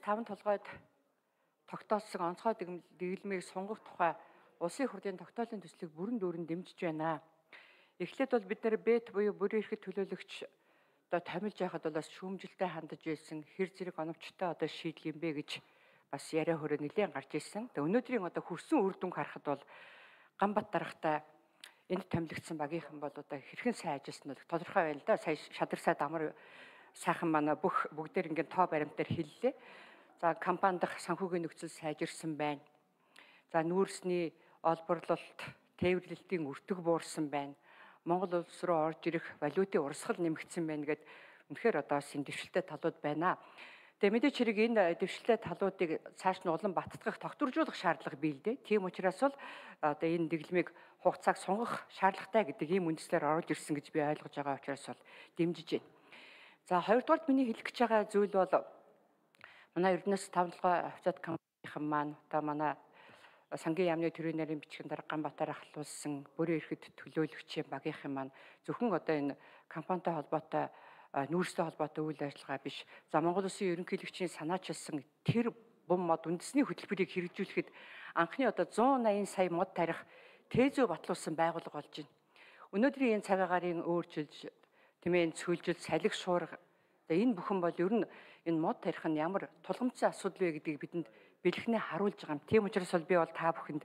5 толгойд тогтоосон онцгой дэглэмийг сунгах тухай улсын хурлын тогтоолын төслийг бүрэн дүүрэн дэмжиж байна. Эхлээд бол бид нэр бэт буюу бүрийн эрхт төлөөлөгч одоо томилж яхад бол бас шүүмжилтэй хандаж байсан хэр зэрэг оновчтой одоо шийдэл юм бэ гэж бас яриа хөрөө нэлээд гарч ирсэн. Тэгээ өнөөдрийн одоо хүрсэн үр дүнг харахад бол Ганбат дарагтай энд томилогдсон багийнхан бол одоо хэрхэн сайн ажилласан нь тодорхой байна л да. Сая шадарсай дамар сайхан манай бүгдээр ингээд тоо баримтаар хэллээ. За компани дахь санхүүгийн нөхцөл сайжирсан байна. За нүүрсний олборлолт, тээвэрлэлтийн өртөг буурсан байна. Монгол улс руу орж ирэх валютын урсгал нэмэгдсэн байна гэд үнэхээр одоо энэ дэвшилтэй талууд байна. Тэгээ мэдээч хэрэг энэ дэвшилтэй талуудыг цааш нь улам баттгах, тогтворжуулах шаардлага бий л дээ. Тийм учраас бол одоо энэ дэглэмийг хугацааг сунгах шаардлагатай гэдэг ийм үндслээр оруулж ирсэн гэж би ойлгож байгаа учраас бол дэмжиж байна. За хоёрдугаарт миний хэлэх гэж байгаа зүйл бол манай Эрдэнэс 5 толгой офицер компанийн маань одоо манай сангийн яамны төрийн нарийн бичгийн дарга Ганбатаар ахлуулсан бүрийн эрхт төлөөлөгчийн багийнхан маань зөвхөн одоо энэ компанитай холбоотой нүүрстэй холбоотой үйл ажиллагаа биш. За Монгол Улсын ерөнхийлөгчийн санаачилсан тэр бум мод үндэсний хөтөлбөрийг хэрэгжүүлэхэд анхны одоо 180 сая мод тарих тээзөө батлуулсан байгууллага болж байна. Өнөөдрийн энэ цагаагаарын өөрчилж, тэмээн цөөлжил, салхи шуурга энэ бүхэн бол ер нь энэ мод тарих нь ямар тулгамдсан асуудал вэ гэдгийг бидэнд бэлгэнээ харуулж байгаа юм. Тийм учраас бол би бол та бүхэнд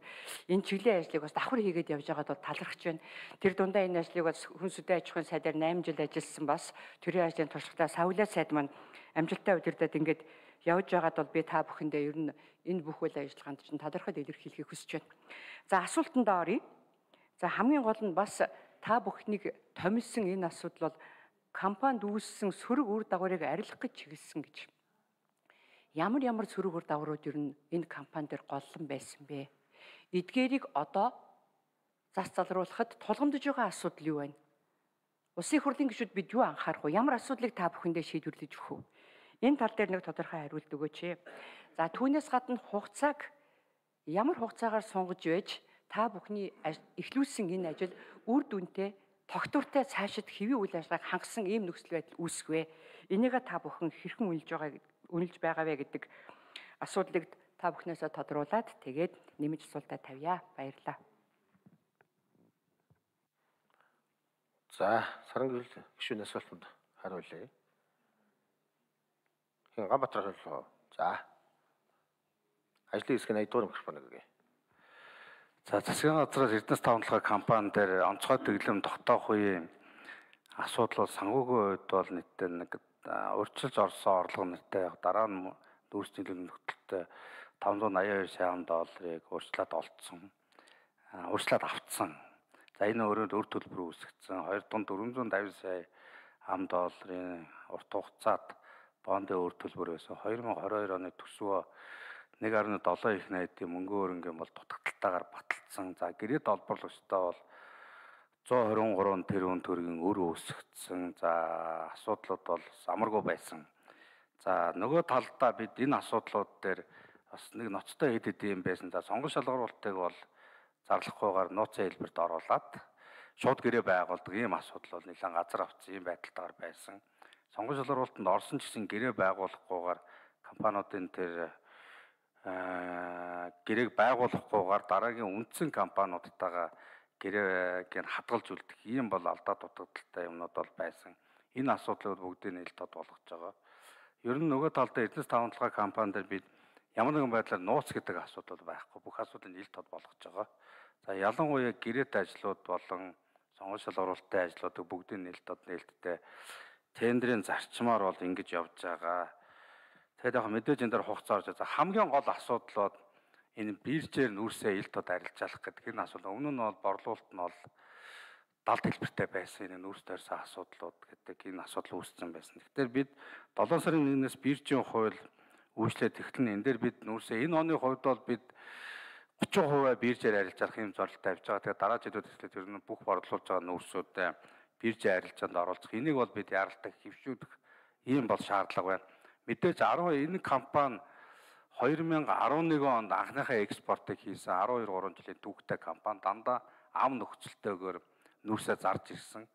энэ чиглэлийн ажлыг бас давхар хийгээд явж байгаад бол талархаж байна. Тэр дундаа энэ ажлыг бас хүнсүдэн аж ахуйн сайдаар 8 жил ажилласан бас төрийн ажлын туршлагатай Савлаа сайд маань амжилттай удирдаад ингээд явж байгаад бол би та бүхэндээ ер нь энэ бүх үйл ажиллагаанд чинь тодорхой илэрхийлэхийг хүсэж байна. За асуултандаа оръё. За хамгийн гол нь бас та бүхнийг томилсон энэ асуудал бол компанид үүссэн сөрөг үр дагаврыг арилгах гэж чиглэсэн гэж. Ямар сөрөг үр дагаврууд ер нь энэ компани дээр голлон байсан бэ? Эдгээрийг одоо зас залруулахад тулгамдж байгаа асуудал юу вэ? Улсын хурлын гишүүд бид юу анхаарах вэ? Ямар асуудлыг та бүхэндээ шийдвэрлэж өгөх вэ? Энэ тал дээр нэг тодорхой хариулт өгөөч. За түүнээс гадна хугацааг ямар хугацаагаар сунгаж байж та бүхний эхлүүлсэн энэ ажил үр дүнтэй тогтвортой цаашид хэвийн үйл ажиллагааг хангасан ийм нөхцөл байдал үүсэх вэ? Энийг та бүхэн хэрхэн үнэлж байгаа вэ гэдэг асуудлыг та бүхнээсээ тодруулаад тэгээд нэмж асуултаа тавья. Баярлалаа. За, Сарангийн гишүүний асуултанд хариулъя. Ганбатар хариуллаа. За. Ажлын хэсгийн 80 дугаар микрофоныг өгье. За, засгийн газраас Эрдэнэс 5 толгой компани дээр онцгой дэглэм тогтоох үеийн асуудал бол санхүүгийн хувьд бол нийтдээ нэг урьдчилж орсон орлого нэртэй дараа нь нүүрсний нөхцөлтэй 582 сая долларыг урьдчилаад олцсон. Урьдчилаад авцсан. За энэ өрөөнд өр төлбөр үүсгэсэн 2.450 сая долларын урт хугацаат бондын өр төлбөр байсан. 2022 оны төсвөө 1.7 их найдын мөнгөн хөрөнгө бол дутагдaltaгаар баталсан. За гэрээд олборлогчтой бол 123 тэрбум төгрөгийн өр үүсгэсэн. За асуудлууд бол амаргүй байсан. За нөгөө талдаа бид энэ асуудлууд дээр бас нэг ноцтой хэд юм байсан. За сонгон шалгаруултыг бол зарлахгүйгээр нууцын хэлбэрт оруулаад шууд гэрээ байгуулдаг ийм асуудал бол нэлээд газар авсан ийм байдалтайгаар байсан. Сонгон шалгаруултанд орсон ч гэсэн гэрээ байгуулахгүйгээр компаниудын тэр гэрээг байгуулахгүйгээр дараагийн үндсэн компаниудтайгаа гэрээг хадгалж үлдэх ийм бол алдаа дутагдaltaй юмнууд бол байсан. Энэ асуудлууд бүгдийг нийлж тод болгож байгаа. Ер нь нөгөө талдаа Эрдэнэс 5 толгой компани дээр бид ямар нэгэн байдлаар нууц гэдэг асуудал байхгүй. Бүх асуудлыг нийлж тод болгож байгаа. За ялангуяа гэрээт ажлууд болон сонгон шалгаруулалтын ажлуудыг бүгдийг нийлж тод нээлттэй тендерийн зарчмаар бол ингэж явж байгаа. Тэгээд яг мэдээж энэ дээр хугацаа орж байгаа. Хамгийн гол асуудал бол энэ биржээр нүүрсээ ил тод арилжаалах гэдэг энэ асуудал. Өмнө нь бол борлуулалт нь бол далд хэлбэртэй байсан. Энэ нүүрс тойрсон асуудлууд гэдэг энэ асуудал үүссэн байсан. Тэгэхээр бид 7 сарын 1-ээс биржийн хууль үйлчлээд эхлэн энэ дээр бид нүүрсээ энэ оны хувьд бол бид 30% биржээр арилжаалах юм зорилттой авч байгаа. Тэгээд дараа жилүүд эхлээд ер нь бүх борлуулж байгаа нүүрсүүдэд биржийн арилжаанд оролцох. Энийг бол бид яралтай хэвшүүлэх ийм бол шаардлага байна. Мэдээж 10 энэ компани 2011 онд анхныхаа экспортыг хийсэн 12-3 жилийн түүхтэй компани дандаа ам нөхцөлтэйгээр нүүрсээ зарж ирсэн.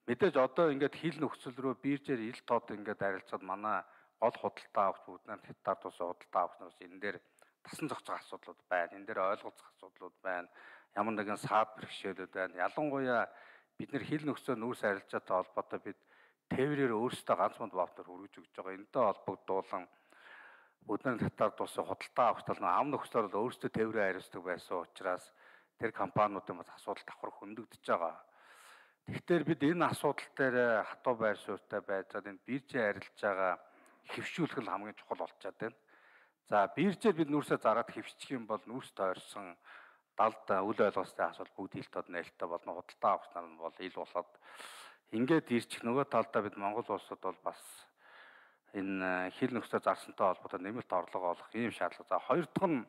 Мэдээж одоо ингээд хил нөхцөл рүү биржээр ил тод ингээд арилцаад манай гол худалдаа авах бүгд хятад улсын худалдаа авах нараас энэ дээр тасан зохицох асуудлууд байна. Энэ дээр ойлголцох асуудлууд байна. Ямар нэгэн саад бэрхшээлүүд байна. Ялангуяа бид нар хил нөхцөл нүүрс арилжаатай холбоотой бид тээврээр өөрсдөө ганц мод ваутер хүргэж өгч байгаа. Энэтэй холбогдуулан бүгд хятад улсын худалдаа авах тал ам нөхцөлөөр бол өөрсдөө тээврээ хариуцдаг байсан учраас тэр компаниудын бас асуудал давхар хөндөгдөж байгаа. Тэгэхээр бид энэ асуудал дээр хатуу байр суурьтай байж байгаа энэ биржийн арилжаагаа хэвшүүлэх нь хамгийн чухал болчиход байна. За биржээр бид нүүрсээ зараад хэвшчих юм бол нүүрс тойрсон далд үл ойлголцтой асуудал бүгд ил тод нээлттэй болно. Худалдаа авах нар нь бол ил болоод ингээд ирчих нөгөө талдаа бид Монгол улсад бол бас энэ хил нөхцөл зарсантай холбоотой нэмэлт орлого олох ийм шаардлага. За хоёр дахь нь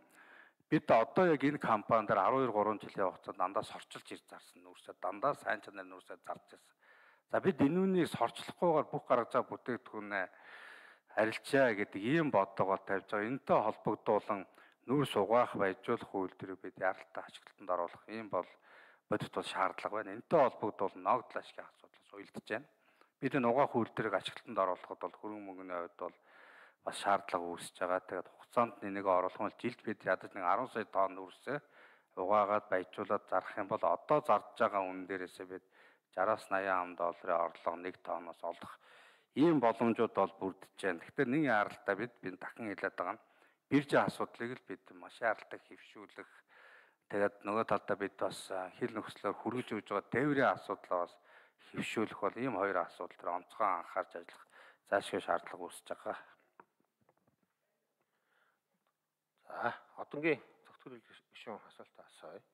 бид одоо яг энэ компани дээр 12-3 жилийн хугацаанд дандаа сорчилж ирж зарсан нүүрсээ дандаа сайн чанарын нүүрсээ зарж ирсэн. За бид энэ үнийг сорчлохгүйгээр бүх гаргаж байгаа бүтээгдэхүүнээ арилжаа гэдэг ийм бодлогоо тавьж байгаа. Энэтэй холбогдуулан нүүрс угаах баяжуулах үйлдвэрийг бид яралтай ашиглалтанд оруулах ийм бол бодит бол шаардлага байна. Энэтэй холбогдуулан ногдол ашигын асуудал уялдаж байна. Бид энэ угаах үйлдвэрийг ашиглалтанд оруулахад бол хөрөнгө мөнгөний хувьд бол бас шаардлага үүсэж байгаа. Тэгээд хугацаанд нэнийг оруулах нь жилд бид ядаж нэг 10 сая тонн нүүрсээ угаагаад баяжуулаад зарах юм бол одоо зарж байгаа үнэ дээрээсээ бид 60-аас 80 ам долларын орлого 1 тонноос олох ийм боломжууд бол бүрдэж байна. Тэгэхээр нэг яралтай бид дахин хэлээд байгаа нь биржийн асуудлыг л бид маш яралтай хэвшүүлэх. Тэгээд нөгөө талдаа бид бас хил нөхцлөөр хүргэж өгж байгаа тээврийн асуудлаа бас хэвшүүлэх бол ийм хоёр асуудал дээр онцгой анхаарч ажиллах заашгүй шаардлага үүсэж байгаа. За, одонгийн зөвтгөл гишүүн асуултаа асууя.